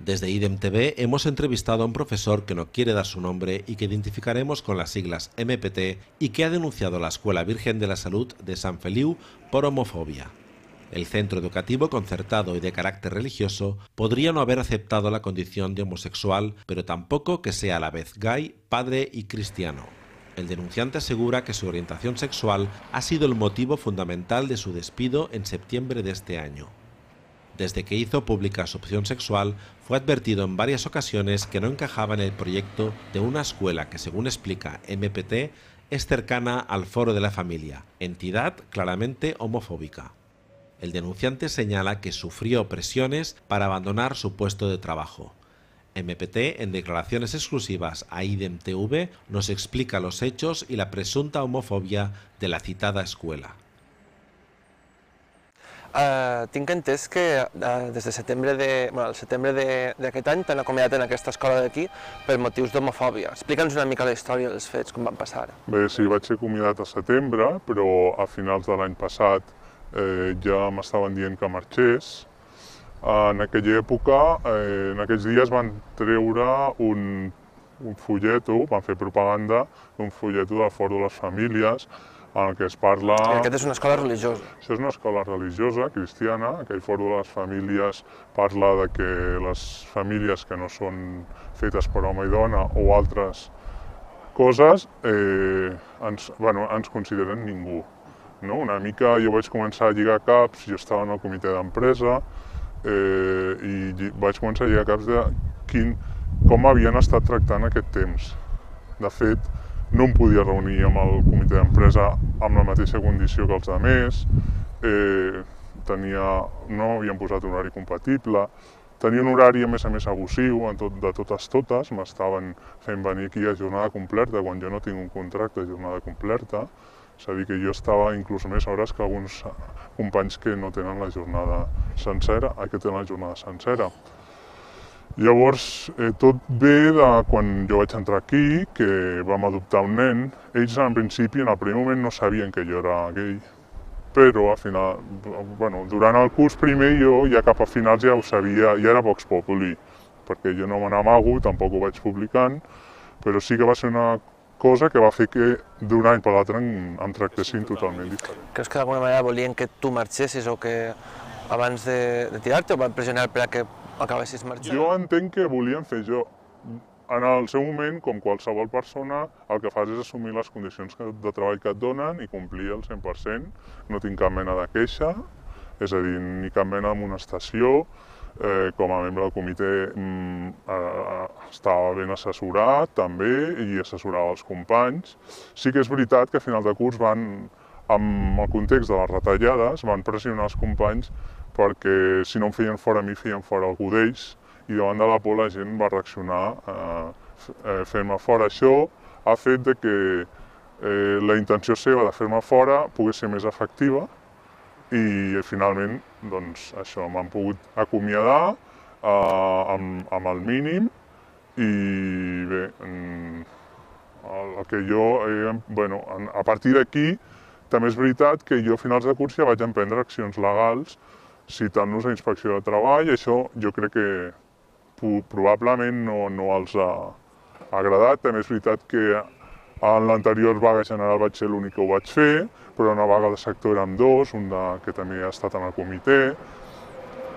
Desde IDEM TV hemos entrevistado a un profesor que no quiere dar su nombre y que identificaremos con las siglas MPT y que ha denunciado a la Escuela Virgen de la Salud de Sant Feliu por homofobia. El centro educativo concertado y de carácter religioso podría no haber aceptado la condición de homosexual, pero tampoco que sea a la vez gay, padre y cristiano. El denunciante asegura que su orientación sexual ha sido el motivo fundamental de su despido en septiembre de este año. Desde que hizo pública su opción sexual, fue advertido en varias ocasiones que no encajaba en el proyecto de una escuela que, según explica MPT, es cercana al Foro de la Familia, entidad claramente homofóbica. El denunciante señala que sufrió presiones para abandonar su puesto de trabajo. MPT, en declaraciones exclusivas a IDEM TV, nos explica los hechos y la presunta homofobia de la citada escuela. Tinc entès que des de setembre d'aquest any t'han acomiadat en aquesta escola d'aquí per motius d'homofòbia. Explica'ns una mica la història dels fets, com van passar. Bé, sí, vaig ser acomiadat a setembre, però a finals de l'any passat ja m'estaven dient que marxés. En aquella època, en aquells dies van treure un folleto, van fer propaganda d'un folleto del Fòrum de les Famílies, en el que es parla... Aquesta és una escola religiosa. Això és una escola religiosa, cristiana. Aquell Fòrum de les Famílies parla de que les famílies que no són fetes per home i dona o altres coses ens consideren ningú. Una mica jo vaig començar a lligar caps, jo estava en el comitè d'empresa i vaig començar a lligar caps de com havien estat tractant aquest temps. De fet, no em podia reunir amb el comitè d'empresa amb la mateixa condició que els altres, no havien posat un horari compatible, tenia un horari a més abusiu de totes, m'estaven fent venir aquí a jornada completa quan jo no tinc un contracte de jornada completa, és a dir, que jo estava inclús més hores que alguns companys que no tenen la jornada sencera, que tenen la jornada sencera. Llavors, tot ve de quan jo vaig entrar aquí, que vam adoptar un nen. Ells, en principi, en el primer moment no sabien que jo era gay, però al final, durant el curs primer jo ja cap a finals ja ho sabia, ja era Vox Populi, perquè jo no me n'amago, tampoc ho vaig publicant, però sí que va ser una cosa que va fer que d'un any per l'altre em tractessin totalment diferent. Creus que d'alguna manera volien que tu marxessis o que abans de tirar-te o van pressionar per a que acabessis marxant? Jo entenc que volien fer jo. En el seu moment, com qualsevol persona, el que fas és assumir les condicions de treball que et donen i complir al 100%. No tinc cap mena de queixa, és a dir, ni cap mena d'amonestació. Com a membre del comitè estava ben assessorat també i assessorava els companys. Sí que és veritat que a final de curs amb el context de les retallades, van pressionar els companys perquè si no em feien fora a mi, feien fora algú d'ells, i davant de la por la gent va reaccionar fent-me fora. Això ha fet que la intenció seva de fer-me fora pogués ser més efectiva i finalment això m'han pogut acomiadar amb el mínim i bé, el que jo, a partir d'aquí també és veritat que jo a finals de curs ja vaig emprendre accions legals citant-los a Inspecció de Treball. Això jo crec que probablement no els ha agradat. També és veritat que en l'anterior vaga general vaig ser l'únic que ho vaig fer, però una vaga de sector érem dos, un que també ha estat en el comitè.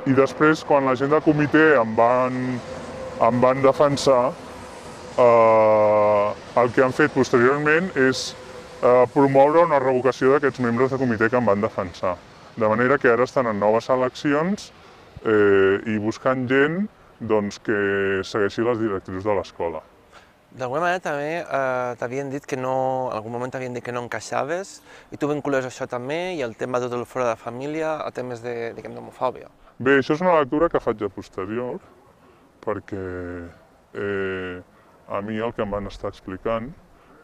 I després, quan la gent del comitè em van defensar, el que han fet posteriorment és promoure una revocació d'aquests membres del comitè que em van defensar. De manera que ara estan en noves eleccions i buscant gent que segueixi les directrius de l'escola. D'alguna manera també t'havien dit que no, en algun moment t'havien dit que no encaixaves i tu vincules això també i el tema del fora de la família a temes d'homofòbia. Bé, això és una lectura que faig a posterior perquè a mi el que em van estar explicant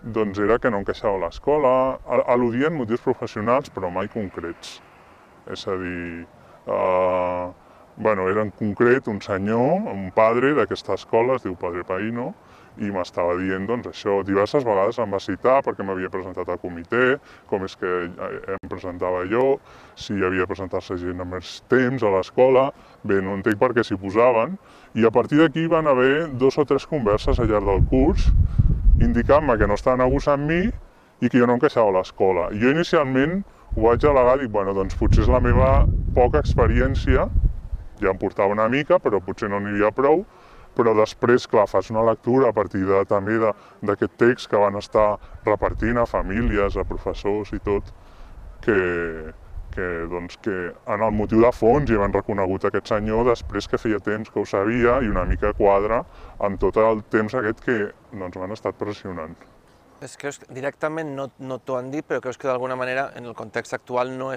era que no encaixava a l'escola, al·ludien motius professionals però mai concrets. És a dir, era en concret un senyor, un padre d'aquesta escola, es diu Padre Paino, i m'estava dient doncs, això. Diverses vegades em va citar perquè m'havia presentat al comitè, com és que em presentava jo, si havia de presentar-se gent a més temps a l'escola. Bé, no entenc per què s'hi posaven. I a partir d'aquí van haver 2 o 3 converses al llarg del curs indicant-me que no estaven abusant amb mi i que jo no encaixava a l'escola. Jo inicialment ho vaig al·legar, dic, bueno, doncs potser és la meva poca experiència, ja em portava una mica, però potser no n'hi havia prou. Però després, clar, fas una lectura a partir també d'aquest text que van estar repartint a famílies, a professors i tot, que en el motiu de fons hi han reconegut aquest senyor després que feia temps que ho sabia i una mica quadra amb tot el temps aquest que m'han estat pressionant. Creus que directament no t'ho han dit, però creus que d'alguna manera en el context actual no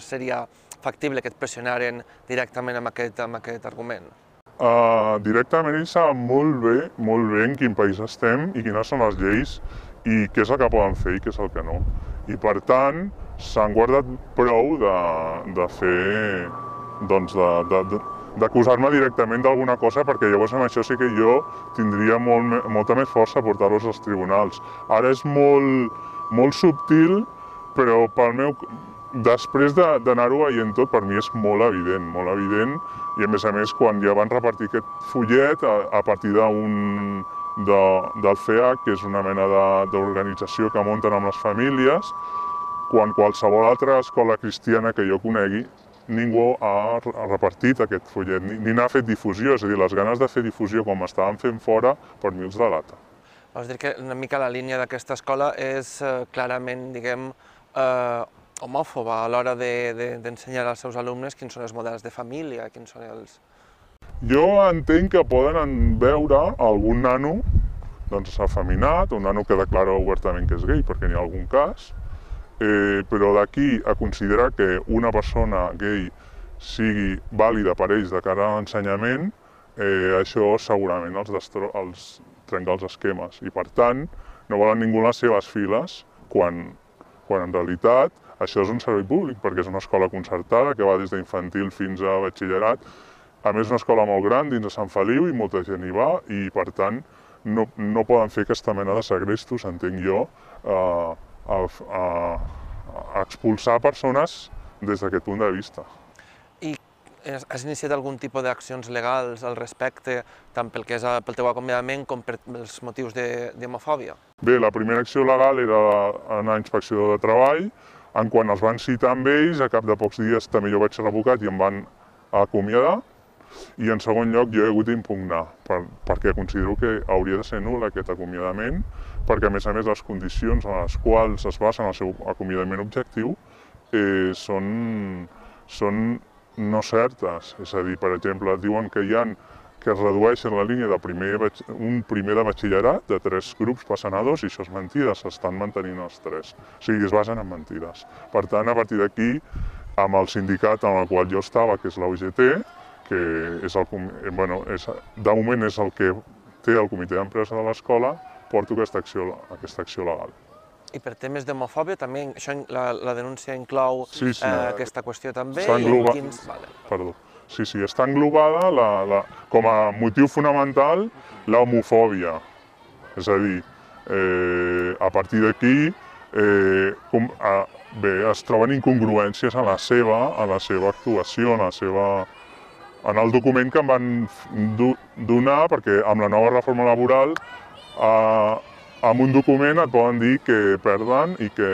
seria factible que et pressionaren directament amb aquest argument? Directament ells saben molt bé en quin país estem i quines són les lleis i què és el que poden fer i què és el que no. I per tant, s'han guardat prou de fer, doncs, d'acusar-me directament d'alguna cosa, perquè llavors amb això sí que jo tindria molta més força a portar-los als tribunals. Ara és molt subtil, però pel meu... Després d'anar-ho veient tot, per mi és molt evident, i a més, quan ja van repartir aquest fullet a partir del FEAC, que és una mena d'organització que munten amb les famílies, quan qualsevol altra escola cristiana que jo conegui, ningú ha repartit aquest fullet, ni n'ha fet difusió, és a dir, les ganes de fer difusió com estaven fent fora, per mi els delata. Vols dir que una mica la línia d'aquesta escola és clarament, diguem, homòfoba a l'hora d'ensenyar als seus alumnes quins són els models de família, quins són els... Jo entenc que poden veure algun nano afeminat, un nano que declara obertament que és gai, perquè n'hi ha algun cas, però d'aquí a considerar que una persona gai sigui vàlida per ells de cara a l'ensenyament, això segurament els trenca els esquemes i per tant no volen ningú a les seves files quan en realitat això és un servei públic, perquè és una escola concertada que va des d'infantil fins a batxillerat. A més, és una escola molt gran dins de Sant Feliu i molta gent hi va i, per tant, no poden fer aquesta mena de segrestos, entenc jo, a expulsar persones des d'aquest punt de vista. I has iniciat algun tipus d'accions legals al respecte, tant pel que és pel teu acomiadament com pels motius d'homofòbia? Bé, la primera acció legal era anar a Inspecció de Treball. Quan els van citar amb ells, a cap de pocs dies també jo vaig ser revocat i em van acomiadar. I en segon lloc jo he hagut d'impugnar, perquè considero que hauria de ser nul aquest acomiadament, perquè a més les condicions en les quals es basen el seu acomiadament objectiu són no certes. És a dir, per exemple, diuen que es redueixen la línia un primer de batxillerat, de 3 grups passen a 2, i això és mentida, s'estan mantenint els 3. O sigui, es basen en mentides. Per tant, a partir d'aquí, amb el sindicat en el qual jo estava, que és la UGT, que de moment és el que té el comitè d'empresa de l'escola, porto aquesta acció legal. I per temes d'homofòbia també, la denúncia inclou aquesta qüestió també? Perdó. Sí, està englobada com a motiu fonamental l'homofòbia. És a dir, a partir d'aquí es troben incongruències en la seva actuació, en el document que em van donar, perquè amb la nova reforma laboral, amb un document et poden dir que perden i que,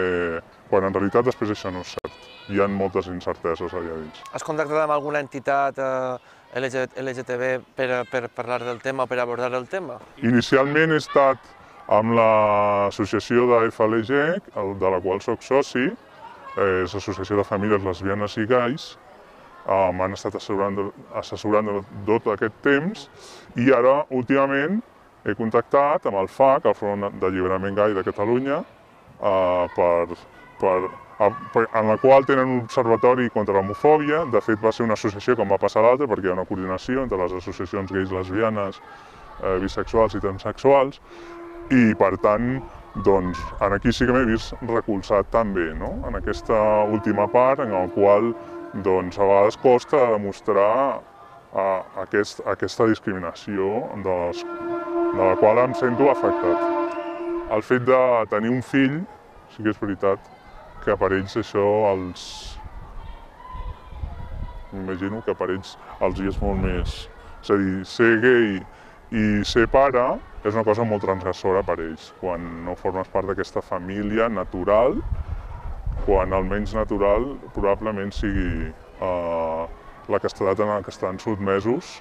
quan en realitat després això no és cert. Hi ha moltes incerteses allà dins. Has contactat amb alguna entitat LGTB per parlar del tema o per abordar el tema? Inicialment he estat amb l'associació de FLG, de la qual soc soci, és l'Associació de Famílies Lesbianes i Gais. M'han estat assessorant tot aquest temps i ara, últimament, he contactat amb el FAC, el Front d'Alliberament Gai de Catalunya, en la qual tenen un observatori contra l'homofòbia. De fet, va ser una associació com va passar l'altra, perquè hi ha una coordinació entre les associacions gais, lesbianes, bisexuals i transsexuals, i per tant, doncs, aquí sí que m'he vist recolzat també, en aquesta última part, en la qual doncs, a vegades costa demostrar aquesta discriminació de les de la qual em sento afectat. El fet de tenir un fill, sí que és veritat que per ells això m'imagino que per ells els hi és molt més... És a dir, ser gay i ser pare és una cosa molt transgressora per ells, quan no formes part d'aquesta família natural, quan el menys natural probablement sigui la castedat en la que estan sotmesos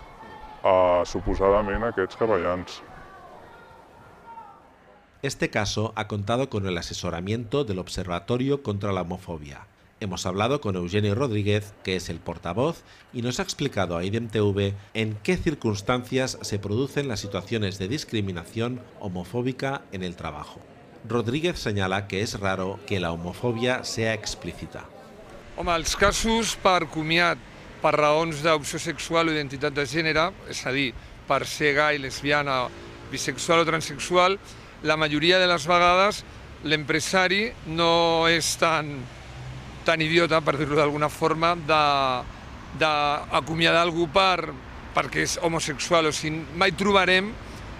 suposadament aquests capellans. Este caso ha contado con el asesoramiento del Observatorio contra la Homofobia. Hemos hablado con Eugenio Rodríguez, que es el portavoz, y nos ha explicado a IDEM-TV en qué circunstancias se producen las situaciones de discriminación homofóbica en el trabajo. Rodríguez señala que es raro que la homofobia sea explícita. Home, els casos per comiat per raons d'opció sexual o identitat de gènere, és a dir, per ser gai, lesbiana, bisexual o transexual, la majoria de les vegades l'empresari no és tan idiota, per dir-ho d'alguna forma, d'acomiadar algú perquè és homosexual. O sigui, mai trobarem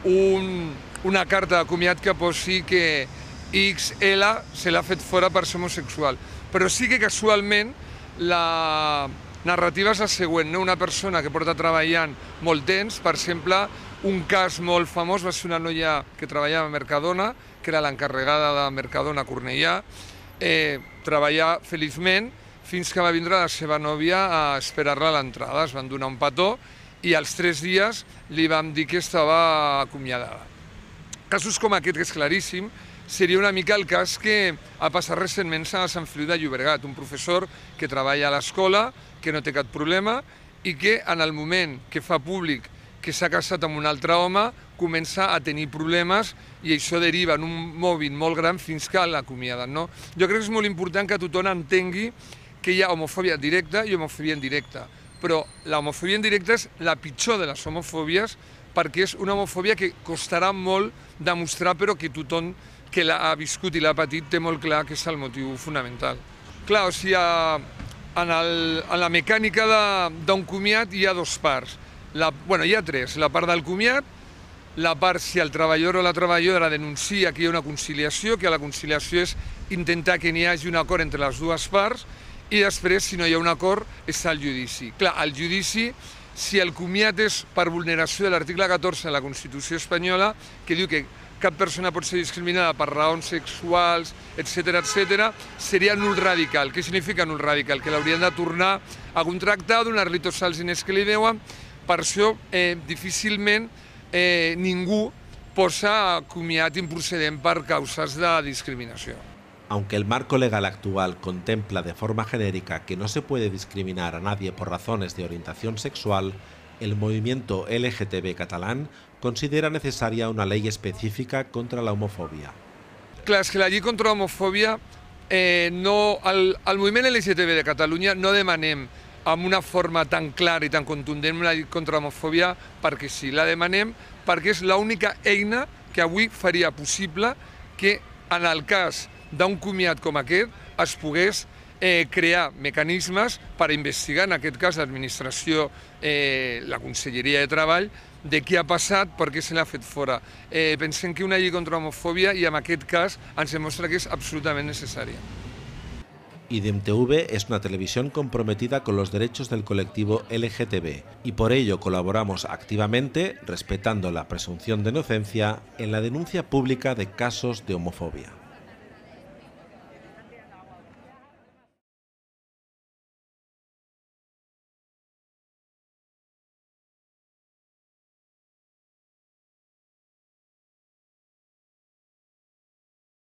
una carta d'acomiat que posi que XL se l'ha fet fora per ser homosexual. Però sí que casualment la narrativa és la següent, una persona que porta treballant molt temps, per exemple, un cas molt famós va ser una noia que treballava a Mercadona, que era l'encarregada de Mercadona Cornellà, treballar feliçment fins que va vindre la seva nòvia a esperar-la a l'entrada. Es van donar un petó i als 3 dies li vam dir que estava acomiadada. Casos com aquest, que és claríssim, seria una mica el cas que ha passat recentment a Sant Feliu de Llobregat, un professor que treballa a l'escola, que no té cap problema i que en el moment que fa públic que s'ha casat amb un altre home, comença a tenir problemes i això deriva en un mòbil molt gran fins que l'acomiaden. Jo crec que és molt important que tothom entengui que hi ha homofòbia directa i homofòbia indirecta, però l'homofòbia indirecta és la pitjor de les homofòbies perquè és una homofòbia que costarà molt demostrar, però que tothom que l'ha viscut i l'ha patit té molt clar que és el motiu fonamental. Clar, o sigui, en la mecànica d'un comiat hi ha 2 parts. Hi ha 3. La part del comiat, la part si el treballador o la treballadora denuncia que hi ha una conciliació, que la conciliació és intentar que n'hi hagi un acord entre les 2 parts, i després, si no hi ha un acord, és el judici. Clar, el judici, si el comiat és per vulneració de l'article 14 de la Constitució espanyola, que diu que cap persona pot ser discriminada per raons sexuals, etc., seria nul radical. Què significa nul radical? Que l'haurien de tornar a contractar, donar-li tots els diners que li deuen. Per això difícilment ningú posa comiat improcedent per causes de discriminació. Aunque el marco legal actual contempla de forma genérica que no se puede discriminar a nadie por razones de orientación sexual, el movimiento LGTB catalán considera necesaria una ley específica contra la homofobia. Clar, és que la llei contra l'homofòbia, el moviment LGTB de Catalunya no demanem amb una forma tan clara i tan contundent una llei contra l'homofòbia perquè sí, la demanem perquè és l'única eina que avui faria possible que en el cas d'un comiat com aquest es pogués crear mecanismes per investigar, en aquest cas l'administració, la Conselleria de Treball, de què ha passat, per què se l'ha fet fora. Pensem que una llei contra l'homofòbia, i en aquest cas ens demostra que és absolutament necessària. IDEM-TV es una televisión comprometida con los derechos del colectivo LGTB y por ello colaboramos activamente, respetando la presunción de inocencia, en la denuncia pública de casos de homofobia.